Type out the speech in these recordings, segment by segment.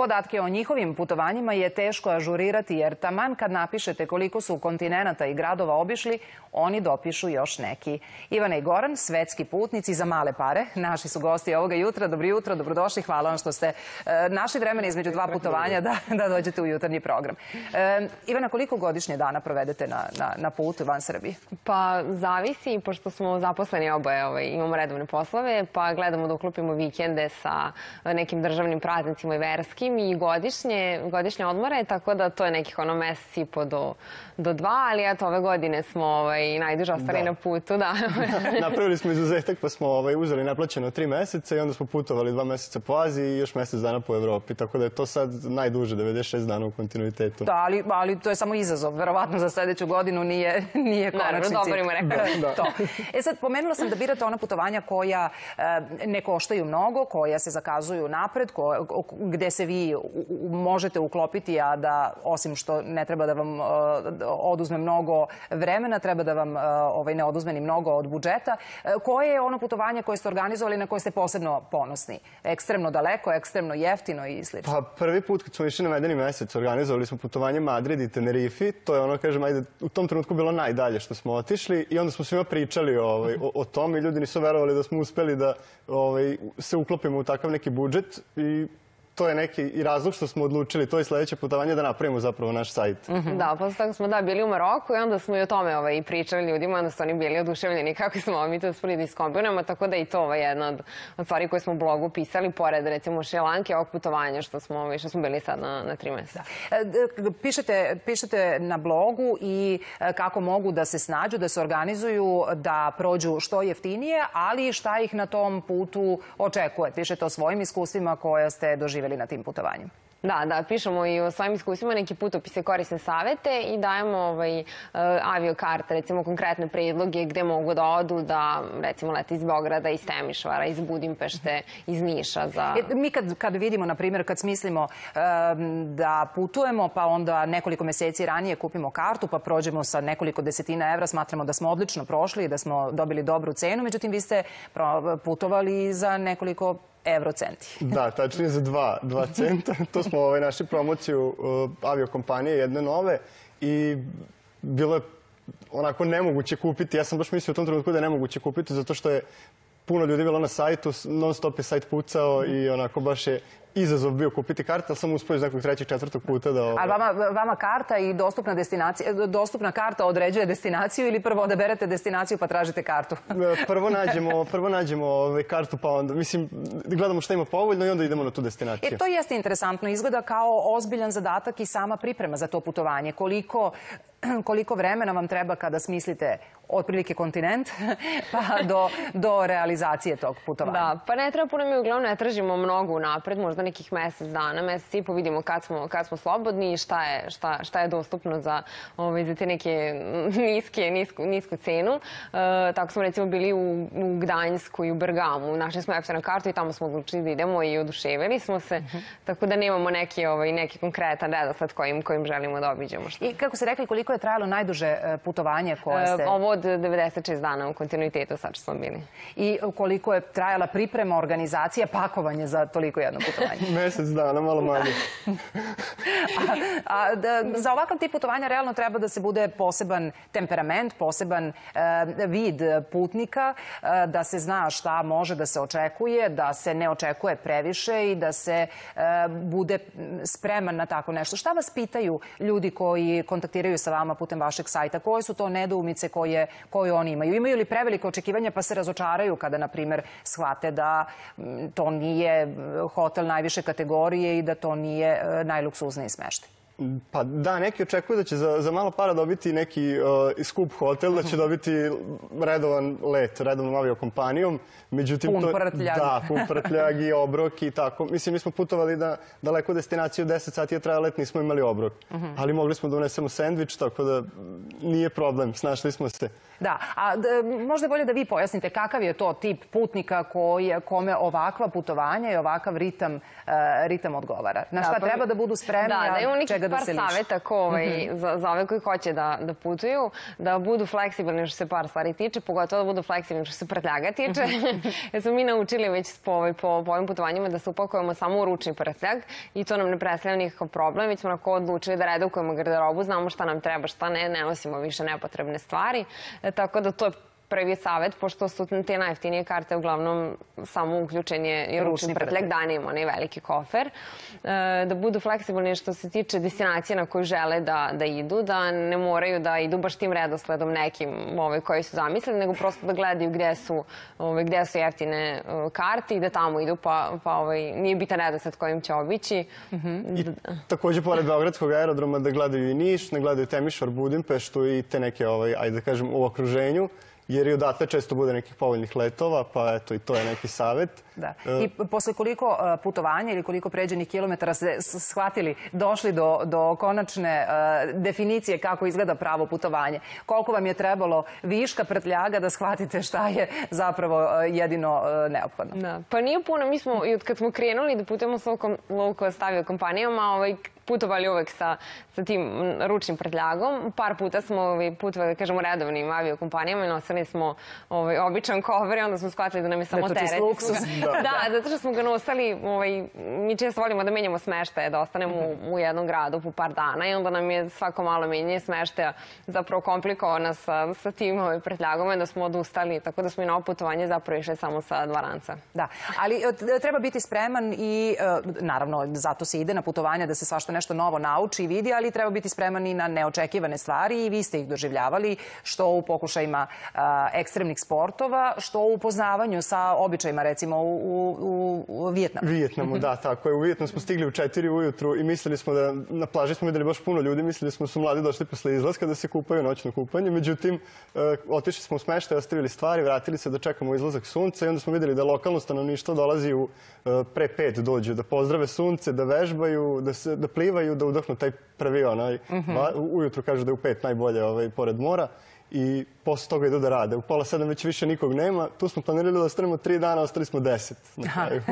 Podatke o njihovim putovanjima je teško ažurirati jer taman kad napišete koliko su kontinenata i gradova obišli, oni dopišu još neki. Ivana i Goran, svetski putnici za male pare, naši su gosti ovoga jutra. Dobro jutro, dobrodošli, hvala vam što ste našli vremena između dva putovanja da dođete u jutarnji program. Ivana, koliko godišnje dana provedete na putu van Srbije? Pa zavisi, pošto smo zaposleni oboje, imamo redovne poslove, pa gledamo da uklopimo vikende sa nekim državnim praznicima i verskim i godišnje odmore, tako da to je nekih mesec i po do 2, ali eto ove godine smo najduže ostali na putu. Napravili smo izuzetak pa smo uzeli naplaćeno 3 meseca i onda smo putovali 2 meseca po Aziji i još mesec dana po Evropi, tako da je to sad najduže, 96 dana u kontinuitetu. Da, ali to je samo izazov, verovatno za sledeću godinu nije konačni cilj. Naravno, dobro ima rekao. Sad, pomenula sam da birate ona putovanja koja ne koštaju mnogo, koja se zakazuju napred, gde se vi možete uklopiti, a da osim što ne treba da vam oduzme mnogo vremena, treba da vam ne oduzme ni mnogo od budžeta. Koje je ono putovanje koje ste organizovali na koje ste posebno ponosni? Ekstremno daleko, ekstremno jeftino i slično? Pa prvi put kad smo išli na medeni mesec organizovali smo putovanje Madrid i Tenerifi. To je ono, kažem, ajde, u tom trenutku bilo najdalje što smo otišli i onda smo svima pričali o tom i ljudi nisu verovali da smo uspeli da se uklopimo u takav neki budžet i to je neki i razlog što smo odlučili to je sledeće putovanje da napravimo zapravo naš sajt. Da, posle toga smo bili u Maroku i onda smo i o tome pričali ljudima, onda su oni bili oduševljeni kako smo mi to uspeli da iskombinujemo, tako da je i to jedna od stvari koje smo u blogu pisali, pored recimo Šrilanke, ovog putovanja što smo bili sad na 3 meseca. Pišete na blogu i kako mogu da se snađu, da se organizuju, da prođu što jeftinije, ali šta ih na tom putu očekuje. Pišete o svojim iskustvima koje ste doživjeli na tim putovanjima. Da, pišemo i o svojim iskustvima, neki putopise, korisne savete i dajemo aviokarte, recimo konkretne predloge gde mogu da odu, da recimo lete iz Beograda, iz Temišvara, iz Budimpešte, iz Niša. Mi kad vidimo, na primjer, kad smislimo da putujemo, pa onda nekoliko meseci ranije kupimo kartu, pa prođemo sa nekoliko desetina evra, smatramo da smo odlično prošli i da smo dobili dobru cenu, međutim vi ste putovali za nekoliko evrocenti. Da, tačnije za 2 centa. To smo našli promociju aviokompanije, jedne nove i bilo je onako nemoguće kupiti. Ja sam baš mislio u tom trenutku da je nemoguće kupiti zato što je puno ljudi bilo na sajtu, non stop je sajt pucao i onako baš je izazov bio kupiti karte, ali sam uspio iz nekog 3. 4. puta da... Ali vama karta i dostupna karta određuje destinaciju ili prvo odaberete destinaciju pa tražite kartu? Prvo nađemo kartu pa onda, mislim, gledamo šta ima povoljno i onda idemo na tu destinaciju. To jeste interesantno, izgleda kao ozbiljan zadatak i sama priprema za to putovanje. Koliko vremena vam treba kada smislite otprilike kontinent pa do realizacije tog putovanja? Da, pa ne treba puno, mi uglavnom ne tražimo mnogo unapred, možda nekih mesec dana, mesec i po, vidimo kad smo slobodni i šta je dostupno za te neke nisku cenu. Tako smo recimo bili u Gdanjsku i u Bergamu, našli smo EPSA na kartu i tamo smo odlučili da idemo i oduševili smo se, tako da nemamo neki konkretan redosled kojim želimo da obiđemo. I kako ste rekli, koliko je trajalo najduže putovanje koje ste... Ovo od 96 dana u kontinuitetu sad što smo bili. I koliko je trajala priprema, organizacija, pakovanje za toliko jedno putovanje? Mesec dana, malo manje. Za ovakav tip putovanja realno treba da se bude poseban temperament, poseban vid putnika, da se zna šta može da se očekuje, da se ne očekuje previše i da se bude spreman na tako nešto. Šta vas pitaju ljudi koji kontaktiraju sa vama putem vašeg sajta? Koje su to nedoumice koje oni imaju? Imaju li prevelike očekivanja pa se razočaraju kada, na primjer, shvate da to nije hotel najviše kategorije i da to nije najluksuzniji smeštaj? Pa da, neki očekuju da će za malo para dobiti neki skup hotel, da će dobiti redovan let, redovnom aviokompanijom. Pun prtljag. Da, pun prtljag i obrok i tako. Mislim, mi smo putovali na daleku destinaciju, 10 sati je trajao let, nismo imali obrok. Ali mogli smo da unesemo sendvič, tako da nije problem, snašli smo se. Da, a možda je bolje da vi pojasnite kakav je to tip putnika kome ovakva putovanja i ovakav ritam odgovara. Na šta treba da budu spremni, a čega da se liši. Da, imamo nekih par saveta za ove koji hoće da putuju, da budu fleksibilni što se par stvari tiče, pogotovo da budu fleksibilni što se prtljaga tiče. Jer smo mi naučili već po ovim putovanjima da se upakujemo samo u ručni prtljag i to nam ne predstavlja nikakav problem, već smo onako odlučili da redukujemo garderobu, znamo šta nam treba, šta ne nosimo više nepotrebne stvari. Tako da to je prvi savjet, pošto su te najjeftinije karte uglavnom samo uključen je ručni prtljag, da nemamo onaj veliki kofer. Da budu fleksibilni što se tiče destinacije na koju žele da idu, da ne moraju da idu baš tim redosledom nekim koji su zamislili, nego prosto da gledaju gde su jeftine karte i da tamo idu, pa nije bitan redosled kojim će obići. I također, pored Beogradskog aerodroma, da gledaju i Niš, da gledaju Temišvar, Budimpeštu i te neke, ajde da kažem, u okruženju, jer i odatle često bude nekih povoljnih letova, pa eto i to je neki savjet. Da. I posle koliko putovanja ili koliko pređenih kilometara ste shvatili, došli do konačne definicije kako izgleda pravo putovanje? Koliko vam je trebalo viška prtljaga da shvatite šta je zapravo jedino neophodno? Pa nije puno. Mi smo, kad smo krenuli da putujemo s low cost aviokompanijama, putovali uvek sa tim ručnim prtljagom. Par puta smo putovali, da kažemo, redovnim aviokompanijama i nosili smo običan kofer i onda smo shvatili da nam je samo teret. Da, zato što smo ga nosili, mi često volimo da menjamo smeštaje, da ostanemo u jednom gradu po par dana i onda nam je svako malo menjanje smeštaja zapravo komplikovano sa tim prtljagom, da smo odustali, tako da smo i na ovo putovanje zapravo išli samo sa 2 ranca. Da, ali treba biti spreman i, naravno, zato se ide na putovanje da se svašta nešto novo nauči i vidi, ali treba biti spreman i na neočekivane stvari i vi ste ih doživljavali, što u pokušajima ekstremnih sportova, što u upoznavanju sa običajima, recimo u Vijetnamu. Vijetnamu, da, tako je. U Vijetnamu smo stigli u 4 ujutru i mislili smo da na plaži smo videli baš puno ljudi, mislili smo da su mladi došli posle izlaska da se kupaju noćno kupanje. Međutim, otišli smo u smeštaj, ostavili stvari, vratili se da čekamo izlazak sunca i onda smo videli da lokalno stanovništvo dolazi pre 5 dođu da pozdrave sunce, da vežbaju, da plivaju, da udahnu taj prvi onaj. Ujutru kažu da je u 5 najbolje pored mora. I posle toga idu da rade. U 6:30 već više nikog nema. Tu smo planirali da ostanemo 3 dana, ostali smo 10 na kraju.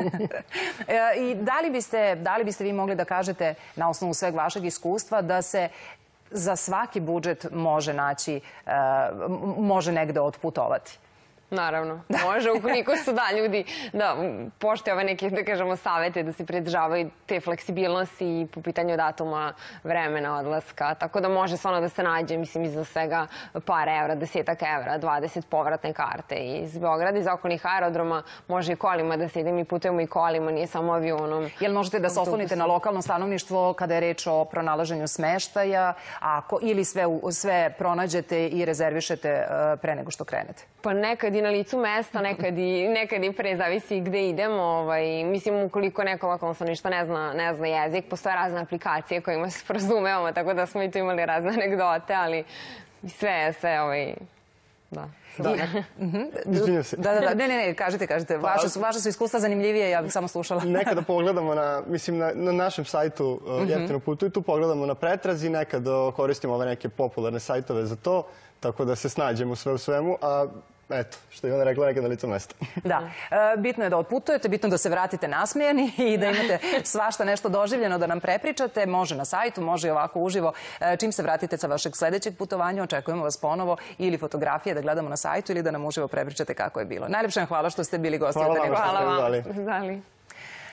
I da li biste vi mogli da kažete, na osnovu sveg vašeg iskustva, da se za svaki budžet može negde otputovati? Naravno, može, ukoliko su ljudi da poštuje ove neke, da kažemo, savete, da se pridržavaju te fleksibilnosti i po pitanju datuma, vremena, odlaska. Tako da može stvarno da se nađe, mislim, iza svega par evra, 10 evra, 20 povratne karte. Iz Beograda, iz okolnih aerodroma, može i kolima da se ide, mi putujemo i kolima, nije samo avionom. Jel možete da se oslonite na lokalno stanovništvo kada je reč o pronalaženju smeštaja ili sve pronađete i rezervišete pre nego što krenete? Pa nekad i na licu mesta, nekad i pre, zavisi gde idemo. Mislim, ukoliko neko lokalno stanovništvo ne zna jezik, postoje razne aplikacije kojima se sporazumevamo, tako da smo i tu imali razne anegdote, ali sve, da. Izvinjam se. Da, ne, kažite. Vaše su iskustva zanimljivije, ja bih samo slušala. Nekada pogledamo na našem sajtu Jeftino putuj, tu pogledamo na pretrazi, nekad koristimo ove neke popularne sajtove za to, tako da se snađemo sve u svemu, a eto, što je ona rekla, nekad na licu mesta. Da, bitno je da otputujete, bitno da se vratite nasmejani i da imate svašta nešto doživljeno da nam prepričate. Može na sajtu, može i ovako uživo. Čim se vratite sa vašeg sledećeg putovanja, očekujemo vas ponovo ili fotografije da gledamo na sajtu ili da nam uživo prepričate kako je bilo. Najlepše vam hvala što ste bili gosti. Hvala vam što ste uzeli.